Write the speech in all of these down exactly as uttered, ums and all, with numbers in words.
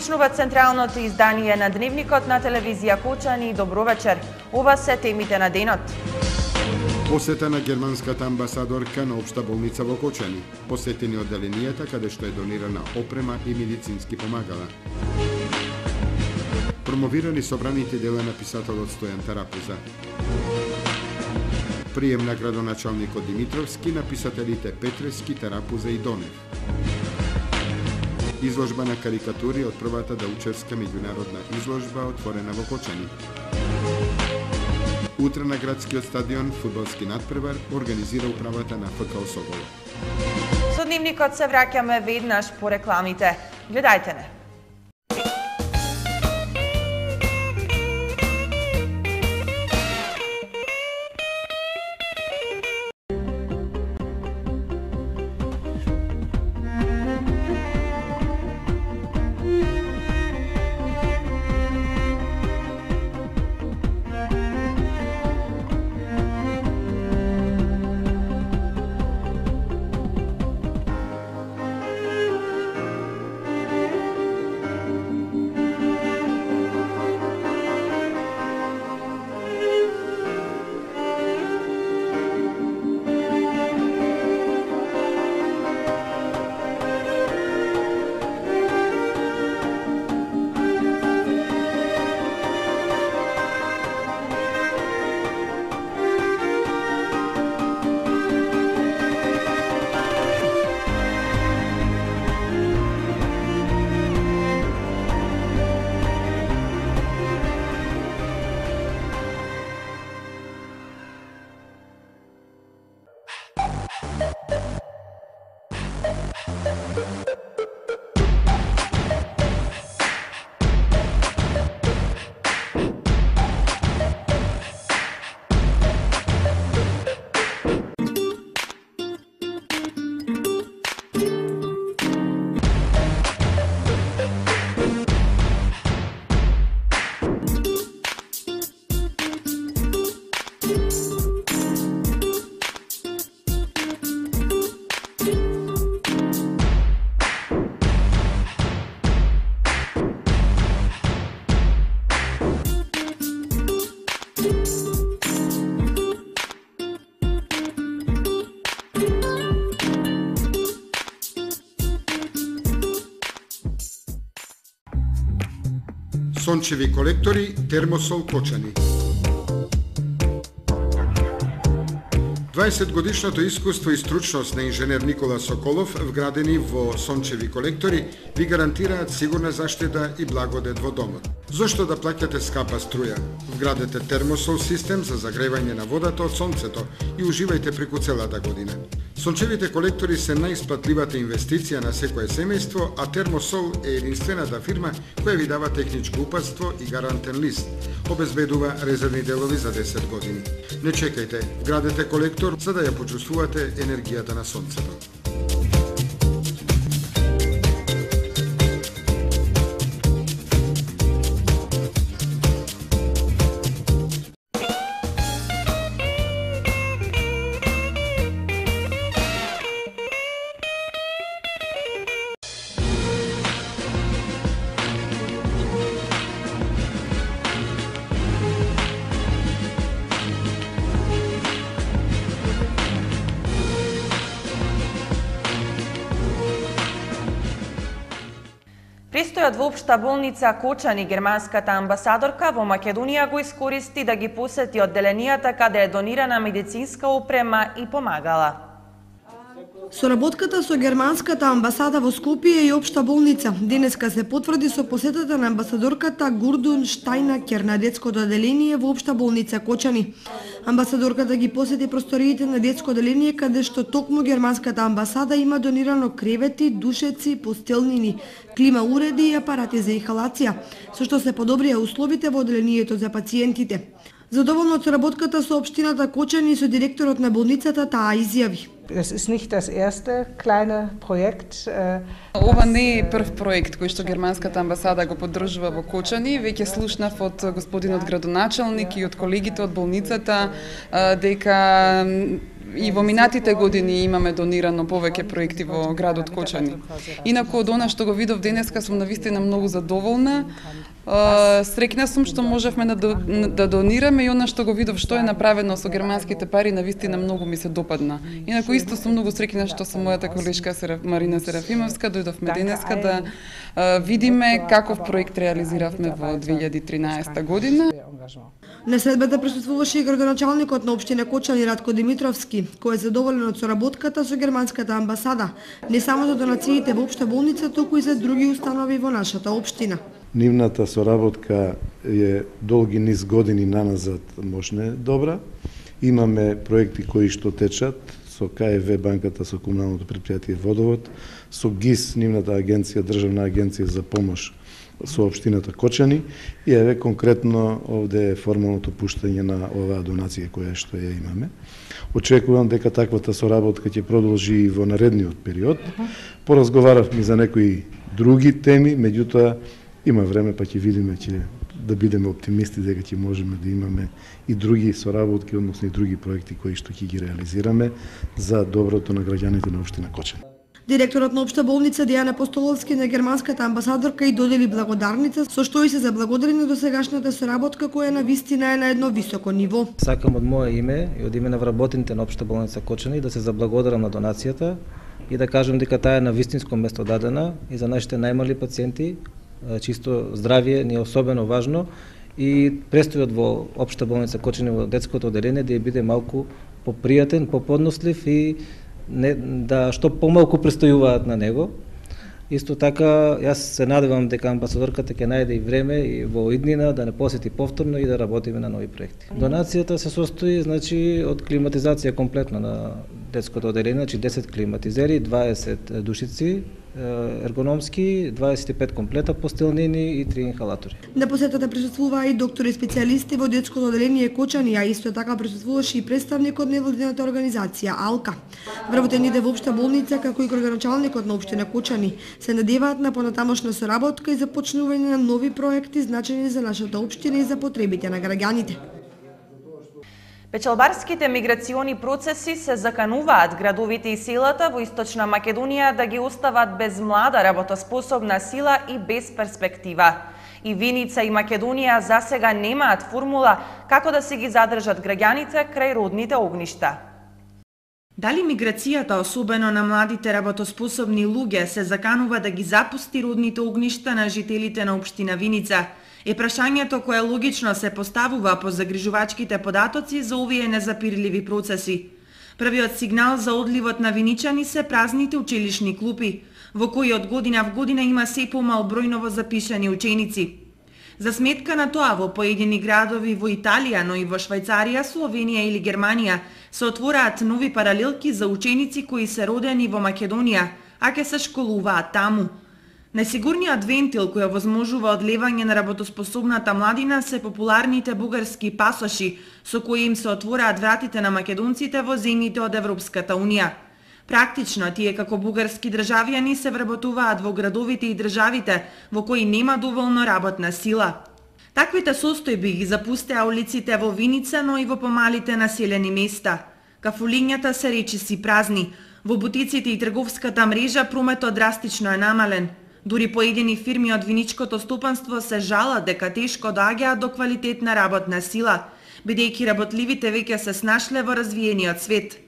Почнува централното издание на Дневникот на телевизија Кочани. Добро вечер. Ова се темите на денот. Посета на германската амбасадорка на Општа болница во Кочани. Посетени одделенијата каде што е донирана опрема и медицински помагала. Промовирани собраните дела на писателот Стојан Тарапуза. Прием на градоначалникот Димитровски на писателите Петрески, Тарапуза и Донев. Изложба на карикатури од првата даучевска меѓународна изложба отворена во Кочани. Утре на градскиот стадион фудбалски натпревар организира управата на ФК Соколов. Со Дневникот се враќаме веднаш по рекламите. Гледајте не. Сончеви колектори, Термосол Кочани. дваесет годишното искуство и стручност на инженер Никола Соколов, вградени во сончеви колектори, ви гарантираат сигурна заштита и благодет во домот. Зошто да плаќате скапа струја? Вградете термосол систем за загревање на водата од сонцето и уживајте преку целата година. Сончевите колектори се најисплатливата инвестиција на секое семејство, а Термосол е единствената фирма која ви дава техничко упатство и гарантен лист. Обезбедува резервни делови за десет години. Не чекајте, вградете колектор за да ја почувствувате енергијата на сонцето. Престојот во Општа болница Кочани, германската амбасадорка во Македонија го искористи да ги посети одделенијата каде е донирана медицинска опрема и помагала. Соработката со германската амбасада во Скопје и Општа болница денеска се потврди со посетата на амбасадорката Гурдун Штајнакер на детското одделение во Општа болница Кочани. Амбасадорката ги посети просториите на детско одделение каде што токму германската амбасада има донирано кревети, душеци, постелнини, клима уреди и апарати за инхалација, со што се подобрија условите во одделението за пациентите. Задоволно од соработката со општината Кочани и со директорот на болницата таа изјави. Es ist nicht das erste kleine Projekt. Ова не е прв проект кој што германската амбасада го поддржува во Кочани. Веќе слушнав од господинот градоначалник и од колегите од болницата дека и во минатите години имаме донирано повеќе проекти во градот Кочани. Инаку од она што го видов денеска сум навистина многу задоволна. Среќна сум што можевме да, да донираме и она што го видов што е направено со германските пари навистина многу ми се допадна. Инаку исто сум многу среќна што со мојата колешка Марина Серафимовска дојдовме денеска да видиме каков проект реализиравме во две илјади и тринаесета година. На следбата присуствуваше и градоначалникот на општина Кочани Радко Димитровски, кој е задоволен од соработката со германската амбасада, не само за донациите во општа болница, туку и за други установи во нашата општина. Нивната соработка е долги низ години наназад можне добра. Имаме проекти кои што течат со К Е В банката, со комуналното предпријатие Водовод, со ГИС, нивната агенција, државна агенција за помош со општината Кочани, и еве конкретно овде е формалното пуштање на оваа донација која што ја имаме. Очекувам дека таквата соработка ќе продолжи и во наредниот период. Поразговаравме за некои други теми, меѓутоа има време па ќе видиме, ќе да бидеме оптимисти дека ќе можеме да имаме и други соработки, односно и други проекти кои што ќе ги реализираме за доброто на граѓаните на општина Кочани. Директорот на општа болница Дејана Постоловски на германската амбасадорка и додели благодарница, со што и се заблагодари на досегашната соработка која на вистина е на едно високо ниво. Сакам од моје име и од име на вработените на општа болница Кочани да се заблагодарам на донацијата и да кажам дека таа е на вистинско место дадена и за нашите најмали пациенти, чисто здравје ни е особено важно и престојот во општа болница Кочани во детското одделение да ја биде малку попријатен, поподнослив и не, да што помалку престојуваат на него. Исто така, јас се надевам дека амбасадорката ќе најде и време и во иднина да не посети повторно и да работиме на нови проекти. Донацијата се состои, значи, од климатизација комплетно на детското одделение, значи десет климатизери, дваесет душици ергономски, дваесет и пет комплета постелнини и три инхалатори. На посетата присуствуваа и доктори и специјалисти во детското одделение Кочани, а исто така присуствуваше и представник од невладината организација АЛКА. Вработените во општа болница, како и градоначалникот на општина Кочани, се надеваат на понатамошна соработка и започнување на нови проекти значени за нашата општина и за потребите на граѓаните. Печалбарските миграциони процеси се закануваат градовите и селата во Источна Македонија да ги остават без млада работоспособна сила и без перспектива. И Виница и Македонија засега немаат формула како да се ги задржат граѓаните крај родните огништа. Дали миграцијата, особено на младите работоспособни луѓе, се заканува да ги запусти родните огништа на жителите на општина Виница? Е прашањето кое логично се поставува по загрижувачките податоци за овие незапирливи процеси. Првиот сигнал за одливот на виничани се празните училишни клупи, во кои од година в година има се помал број новозапишани ученици. За сметка на тоа, во поедини градови во Италија, но и во Швајцарија, Словенија или Германија се отвораат нови паралелки за ученици кои се родени во Македонија, а ке се школуваат таму. Најсигурниот вентил кој овозможува одлевање на работоспособната младина се популарните бугарски пасоши, со кои им се отвораат вратите на македонците во земјите од Европската Унија. Практично, тие како бугарски државјани се вработуваат во градовите и државите во кои нема доволно работна сила. Таквите состојби ги запустеа улиците во Виница, но и во помалите населени места. Кафулињата се речиси празни. Во бутиците и трговската мрежа прометот драстично е намален. Дури поедини фирми од виничкото стопанство се жалат дека тешко доаѓаат до квалитетна работна сила, бидејќи работливите веќе се снашле во развиениот свет.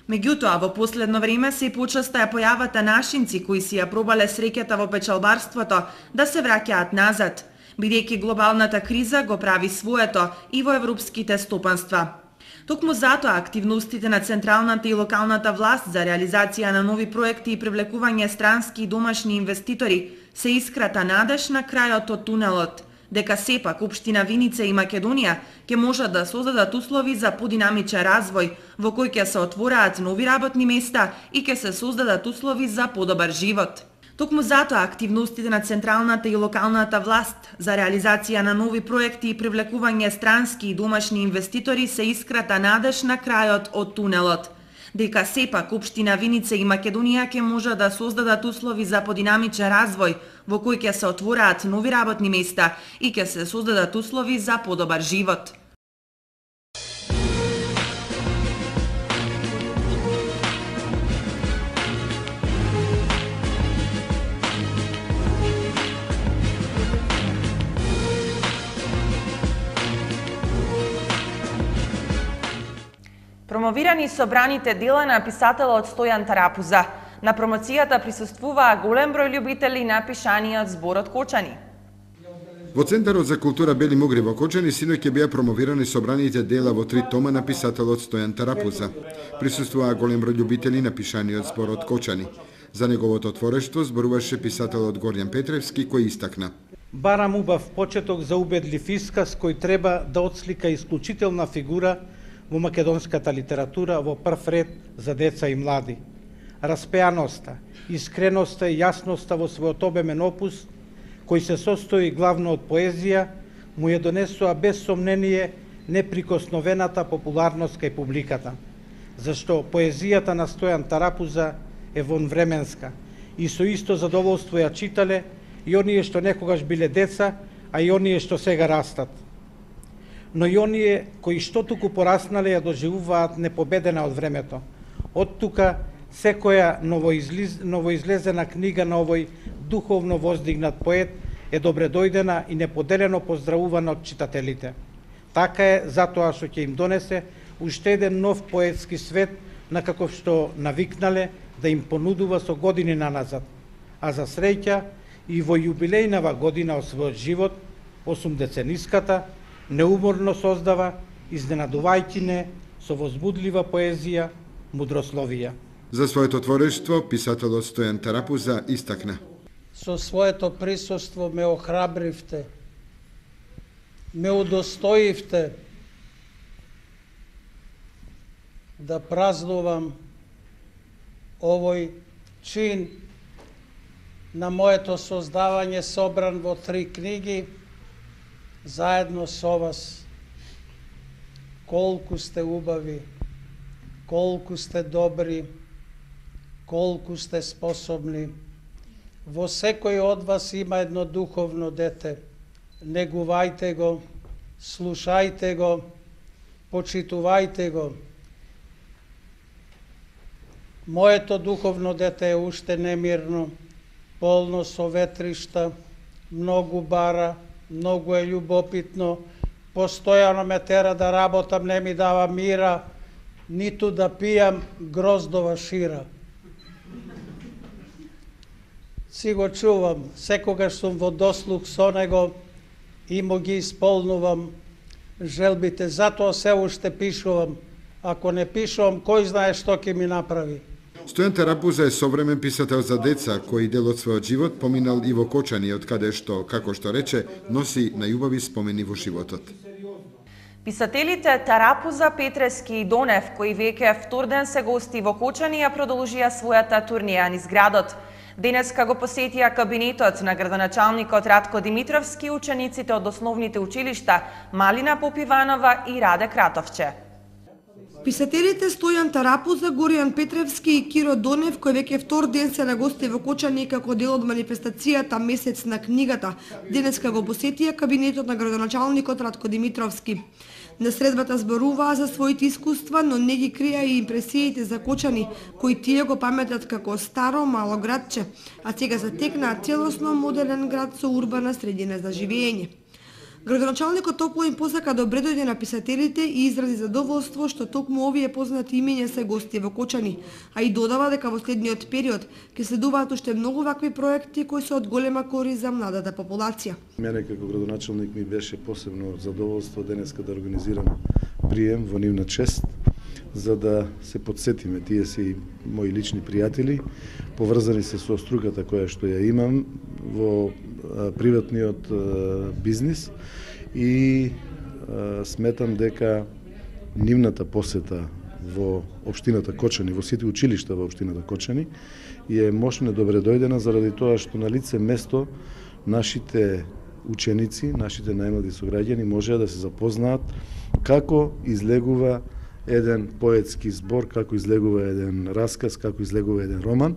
Меѓутоа, во последно време се почеста е појавата нашинци кои си ја пробале среќата во печалбарството да се враќаат назад, бидејќи глобалната криза го прави своето и во европските стопанства. Токму затоа активностите на централната и локалната власт за реализација на нови проекти и привлекување странски и домашни инвеститори се искрата надеж на крајот од тунелот, дека сепак општина Виница и Македонија ќе можат да создадат услови за подинамичен развој, во кој ќе се отвораат нови работни места и ќе се создадат услови за подобар живот. Токму затоа активностите на централната и локалната власт за реализација на нови проекти и привлекување странски и домашни инвеститори се искрата надеж на крајот од тунелот, дека сепак општина Виница и Македонија ќе можат да создадат услови за подинамичен развој, во кој ќе се отвораат нови работни места и ќе се создадат услови за подобар живот. Промовирани собраните дела на писателот Стојан Тарапуза. На промоцијата присуствуваа голем број љубители на пишаниот зборот Кочани. Во Центарот за култура Бели Мугри во Кочани синоќ беа промовирани собраните дела во три тома на писателот Стојан Тарапуза. Присуствуваа голем број љубители на пишаниот зборот Кочани. За неговото творештво зборуваше писателот Горјан Петревски, кој истакна: барам убав почеток за убедлив исказ кој треба да отслика исклучителна фигура во македонската литература во прв ред за деца и млади. Распеаноста, искреноста и јасноста во својот обемен опус, кој се состои главно од поезија, му ја донесоа без сомнение неприкосновената популарност кај публиката, зашто поезијата на Стојан Тарапуза е вонвременска и со исто задоволство ја читале и оние што некогаш биле деца, а и оние што сега растат. Но и оние кои што туку пораснале ја доживуваат непобедена од времето. Од тука секоја новоизлез, новоизлезена книга на овој духовно воздигнат поет е добре дојдена и неподелено поздравувана од читателите. Така е затоа што ќе им донесе уште еден нов поетски свет на каков што навикнале да им понудува со години наназад. А за среќа и во јубилејнава година од својот живот, осумдецениската, неуморно создава, изненадувајќи не со возбудлива поезија, мудрословија. За своето творештво писателот Стојан Тарапуза истакна: со своето присуство ме охрабривте, ме удостоивте да празнувам овој чин на моето создавање собран во три книги, заедно со вас. Колку сте убави, колку сте добри, колку сте способни. Во секој од вас има едно духовно дете. Негувајте го, слушајте го, почитувајте го. Моето духовно дете е уште немирно, полно со ветришта, многу бара, многу е љубопитно, постојано ме тера да работам, не ми дава мира, ниту да пијам гроздова шира. Си го чувам, секогаш сум во дослух со него и му ги исполнувам желбите, затоа се уште пишувам. Ако не пишувам, кој знае што ќе ми направи. Стојан Тарапуза е современ писател за деца, кој дел од својот живот поминал и во Кочани, од каде што, како што рече, носи најубави спомени во животот. Писателите Тарапуза, Петревски и Донев, кои веќе втор ден се гости во Кочани, ја продолжија својата турнија низ градот. Денеска го посетија кабинетот на градоначалникот Радко Димитровски, учениците од основните училишта Малина Попиванова и Раде Кратовче. Писателите Стојан Тарапуза, Горјан Петревски и Киро Донев, кои веќе втор ден се на гости во Кочани како дел од манифестацијата Месец на книгата, денеска го посетија кабинетот на градоначалникот Радко Димитровски. На средбата зборуваа за своите искуства, но не ги криеа и импресиите за Кочани, кои тие го паметат како старо мало градче, а сега затекнаа целосно модерен град со урбана средина за живење. Градоначалникот топло им посака добре дојде на писателите и изрази задоволство што токму овие познати имиња се гости во Кочани, а и додава дека во следниот период ќе следуваат уште многу вакви проекти кои се од голема корист за младата популација. Мене како градоначалник ми беше посебно задоволство денеска да организирам прием во нивна чест, за да се подсетиме, тие се и мои лични пријатели, поврзани се со струката која што ја имам во приватниот бизнис и сметам дека нивната посета во општината Кочани, во сите училишта во општината Кочани е мощно добре дојдена заради тоа што на лице место нашите ученици, нашите најмлади сограѓани можеа да се запознаат како излегува еден поетски збор, како излегува еден расказ, како излегува еден роман,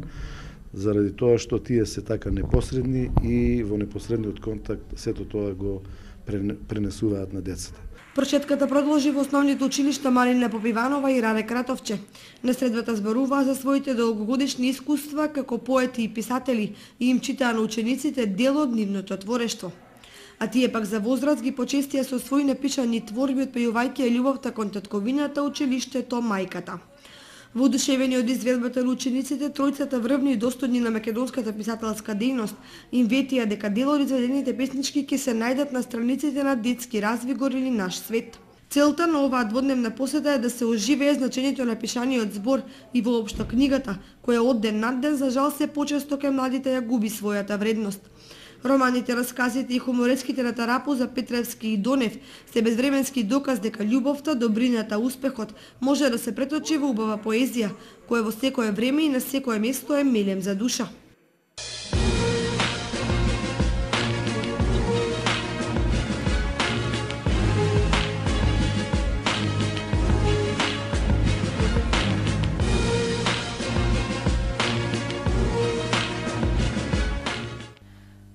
заради тоа што тие се така непосредни и во непосредниот контакт сето тоа го пренесуваат на децата. Прочетката продолжи во основните училишта Малина Попиванова и Раде Кратовче. На средбата зборуваа за своите долгогодишни искуства како поети и писатели и им читаа на учениците дел од нивното творештво. а тие пак за возраст ги почестија со своји напишани творби отпејувајќи ја љубовта кон татковината, училиштето, мајката. Воодушевени од изведбата на учениците, тројцата врвни и достојни на македонската писателска дејност им ветија дека дел од изведените песнички ќе се најдат на страниците на Детски развигор или Наш свет. Целта на оваа дводневна посета е да се оживее значењето на пишаниот збор и воопшто книгата, која од ден над ден за жал се почесто кај младите ја губи својата вредност. Романите, расказите и хумореските на Тарапуза, Петревски и Донев се безвременски доказ дека љубовта, добрината, успехот може да се преточи во убава поезија, која во секое време и на секое место е мелем за душа.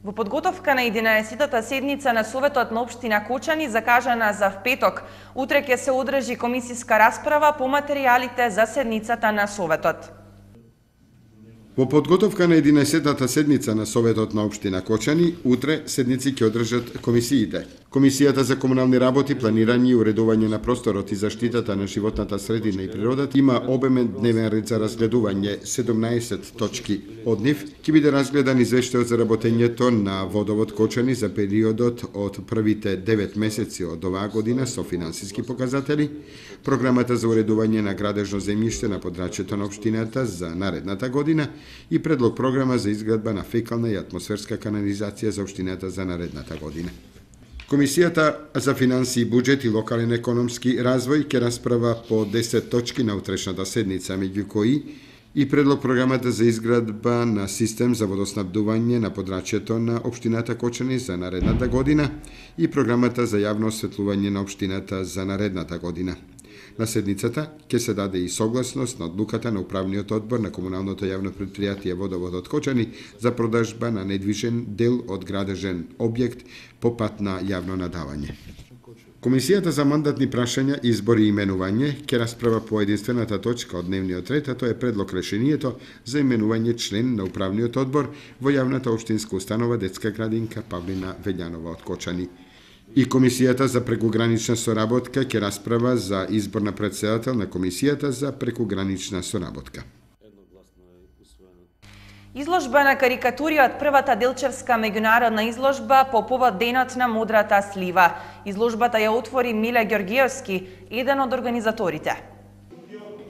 Во подготовка на единаесеттата седница на Советот на општина Кочани, закажана за впеток, утре ќе се одржи комисиска расправа по материјалите за седницата на Советот. Во подготовка на единаесеттата седница на Советот на општина Кочани, утре седници ќе одржат комисиите. Комисијата за комунални работи, планирање и уредување на просторот и заштитата на животната средина и природата има обемен дневен ред за разгледување, седумнаесет точки. Од нив ќе биде разгледан извештајот за работењето на водовод Кочани за периодот од првите девет месеци од оваа година со финансиски показатели, програмата за уредување на градежно земјиште на подрачјето на општината за наредната година и предлог програма за изградба на фекална и атмосферска канализација за општината за наредната година. Комисијата за финансии и буџет и локален економски развој ќе расправа по десет точки на утрешната седница, меѓу кои и предлог програмата за изградба на систем за водоснабдување на подрачјето на општината Кочани за наредната година и програмата за јавно осветлување на општината за наредната година. На седницата ќе се даде и согласност на одлуката на управниот одбор на комуналното јавно предпријатие Водоводот Кочани за продажба на недвижен дел од градежен објект по пат на јавно надавање. Комисијата за мандатни прашања, избори и именување ќе расправа по единствената точка од дневниот ред, а тоа е предлог решението за именување член на управниот одбор во јавната општинска установа Детска градинка Павлина Велјанова од Кочани. И Комисијата за прекугранична соработка ќе расправа за избор на претседател на Комисијата за прекугранична соработка. Изложба на карикатури од првата Делчевска меѓународна изложба по повод денот на Модрата слива. Изложбата ја отвори Миле Ѓоргиевски, еден од организаторите.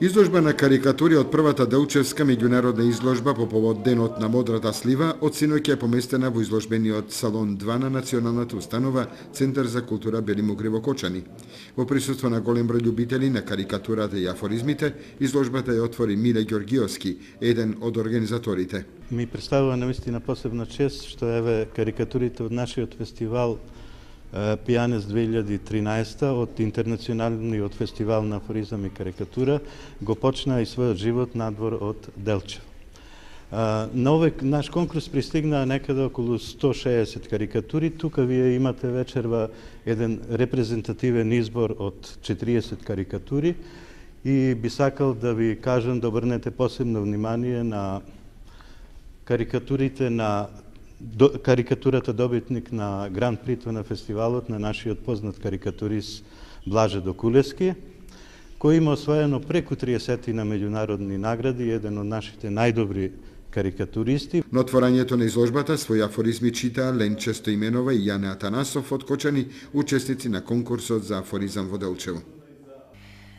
Изложба на карикатури од првата Делчевска меѓународна изложба по повод денот на Модрата слива од синоќ е поместена во изложбениот салон два на Националната установа Центар за култура Бели Мугри во Кочани. Во присуство на голем број љубители на карикатурата и афоризмите, изложбата ја отвори Миле Ѓоргиевски, еден од организаторите. Ми представува навистина посебна чест што еве карикатурите од нашиот фестивал Пијанес две илјади и тринаесета од Интернационалниот фестивал на афоризам и карикатура го почна и својот живот надвор од Делчев. На овој наш конкурс пристигнаа некаде околу сто шеесет карикатури. Тука вие имате вечерва еден репрезентативен избор од четириесет карикатури и би сакал да ви кажам да обрнете посебно внимание на карикатурите на До, карикатурата добитник на Гран Прито на фестивалот на нашиот познат карикатурист Блаже Докулевски, кој има освоено преку триесет на меѓународни награди, еден од нашите најдобри карикатуристи. На отворањето на изложбата своји афоризми читаа Ленче Стоименова и Јане Атанасов од Кочани, учесници на конкурсот за афоризам во Делчево.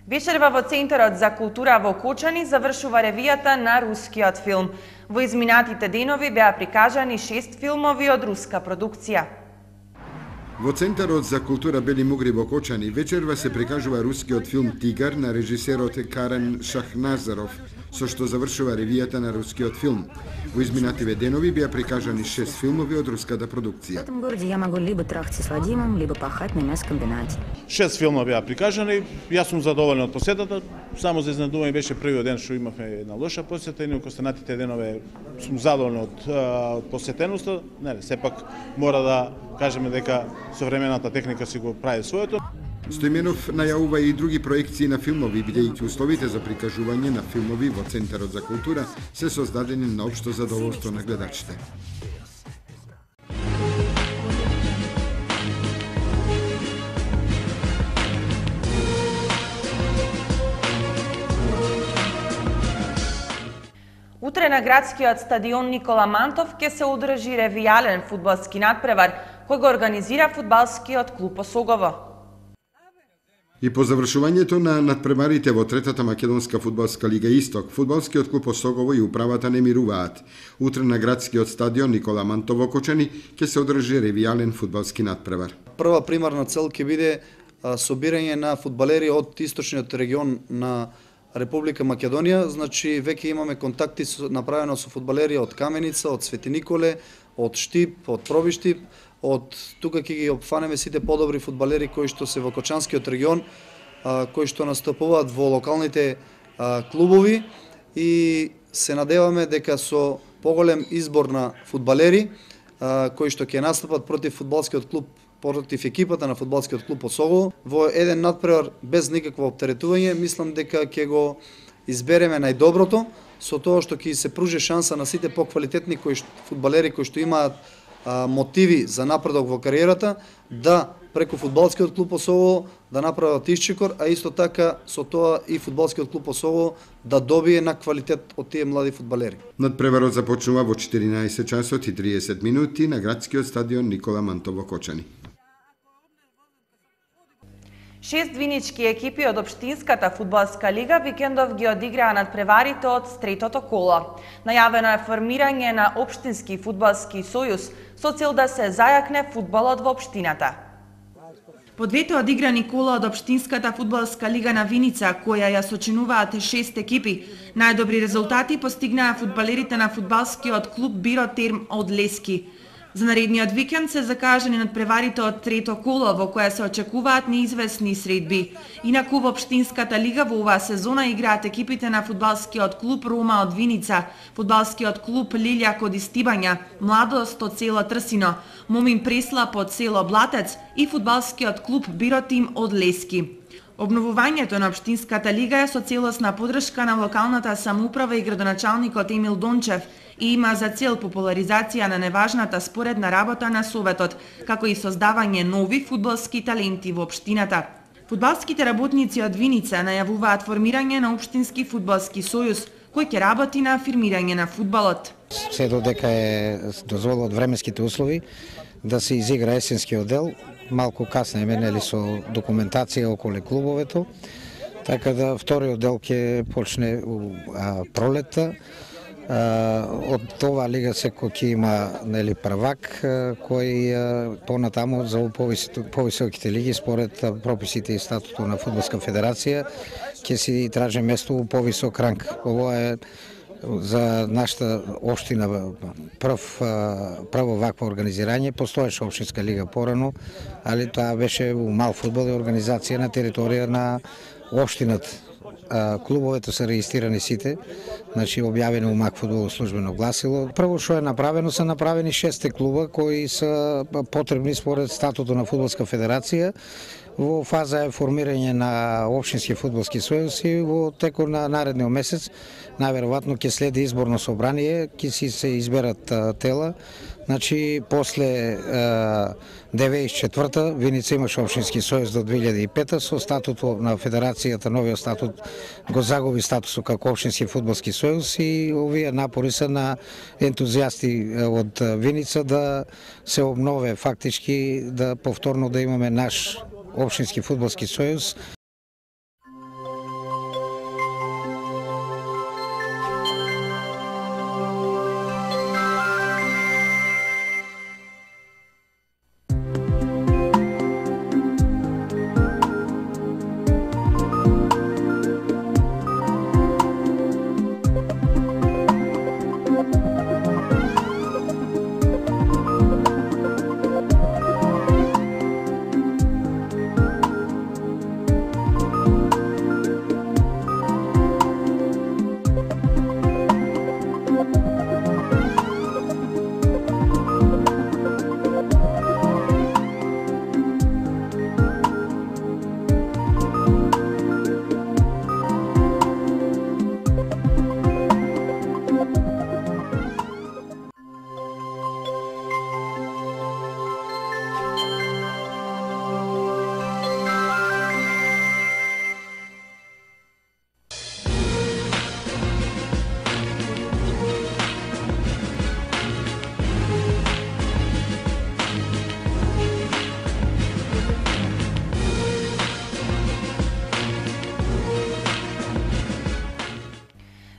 Вечерва во Центарот за култура во Кочани завршува ревијата на рускиот филм. Во изминатите денови беа прикажани шест филмови од руска продукција. Во Центарот за култура Бели Мугри во Кочани вечерва се прикажува рускиот филм Тигар на режисерот Карен Шахназаров, со што завршува ревијата на рускиот филм. Во изминативе денови беа прикажани шест филмови од руската продукција. В этом городе я могу либо трахаться с Вадимом, либо пахать на мясокомбинате. Шест филма беа прикажани, јас сум задоволен од посетата. Само за изненадување беше првиот ден што имавме една лоша посета, и низ останатите денове сум задоволен од, од посетеноста. Не, сепак мора да кажеме дека современата техника си го прави своето. Стоименов најавува и други проекции на филмови, бидејќи условите за прикажување на филмови во Центарот за култура се создадени на општо задоволство на гледачите. Утре на градскиот стадион Никола Мантов ќе се одржи ревијален фудбалски надпревар кој го организира фудбалскиот клуб Осогово. И по завршувањето на надпреварите во третата македонска фудбалска лига Исток, фудбалскиот клуб Осогово и управата не мируваат. Утре на градскиот стадион Никола Мантов во Кочани ќе се одржи ревијален фудбалски надпревар. Прва примарна цел ќе биде собирање на фудбалери од источниот регион на Република Македонија, значи веќе имаме контакти со, направено со фудбалери од Каменица, од Свети Николе, од Штип, од Пробиштип, од тука ќе ги опфанеме сите подобри фудбалери кои што се во Кочанскиот регион, а, кои што настапуваат во локалните а, клубови и се надеваме дека со поголем избор на фудбалери а, кои што ќе настапат против фудбалскиот клуб, против екипата на фудбалскиот клуб Осогово, во еден надпревар без никакво оптеретување, мислам дека ќе го избереме најдоброто, со тоа што ќе се пружи шанса на сите поквалитетни кои фудбалери кои што имаат а, мотиви за напредок во кариерата, да преку фудбалскиот клуб Осогово да направат исчекор, а исто така со тоа и фудбалскиот клуб Осогово да добие на квалитет од тие млади фудбалери. Надпреварот започнува во четиринаесет часот и триесет минути на градскиот стадион Никола Мантов во Кочани. Шест винички екипи од Општинската фудбалска лига викендов ги одиграа надпреварите од третото коло. Најавено е формирање на Општински фудбалски сојуз со цел да се зајакне фудбалот во општината. По двете одиграни кола од Општинската фудбалска лига на Виница, која ја сочинуваат шест екипи, најдобри резултати постигнаа фудбалерите на фудбалскиот клуб Биро Терм од Лески. За наредниот викенд се закажани надпреварите од трето коло во која се очекуваат неизвестни средби. Инаку во Општинската лига во оваа сезона играат екипите на фудбалскиот клуб Рома од Виница, фудбалскиот клуб Лилјак од Истибања, Младост од село Трсино, Момин Преслап од село Блатец и фудбалскиот клуб Биротим од Лески. Обновувањето на Општинската лига е со целосна подршка на локалната самоуправа и градоначалникот Емил Дончев и има за цел популаризација на неважната споредна работа на Советот, како и создавање нови фудбалски таленти во општината. Фудбалските работници од Виница најавуваат формирање на Општински фудбалски сојуз, кој ќе работи на афирмирање на фудбалот. Се додека е дозволат временските услови да се изигра есенскиот дел, малку касне менели со документација околу клубовето, така да вториот дел ќе почне а, пролетта. Од това лига секој ќе има нели првак кој понатаму за повисоките лиги според прописите и статутот на фудбалска федерација ќе си траже место у повисок ранг. Ова е за нашата општина прв прво вакво организирање. Постоеше општинска лига порано, али тоа беше у мал фудбал и организација на територија на општината. Клубовете се регистрирани сите, значи објавени у МАК фудбал службено гласило. Прво што е направено, се направени шест клуба кои се потребни според статутот на фудбалска федерација. Во фаза е формирање на Општински фудбалски сојуз и во текот на наредниот месец најверојатно ќе следи изборно собрание, ќе си се изберат тела. Значи, после деветдесет и четврта Виница имаше Општински сојуз до две илјади и пета, со статутот на федерацијата, новиот статут го загуби статусот како Општински фудбалски сојуз и овие напори се на ентузијасти од Виница да се обнове фактички, да повторно да имаме наш Општински фудбалски сојуз.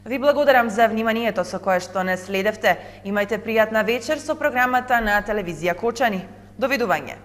Ви благодарам за вниманието со кое што не следевте. Имајте пријатна вечер со програмата на телевизија Кочани. Довидување.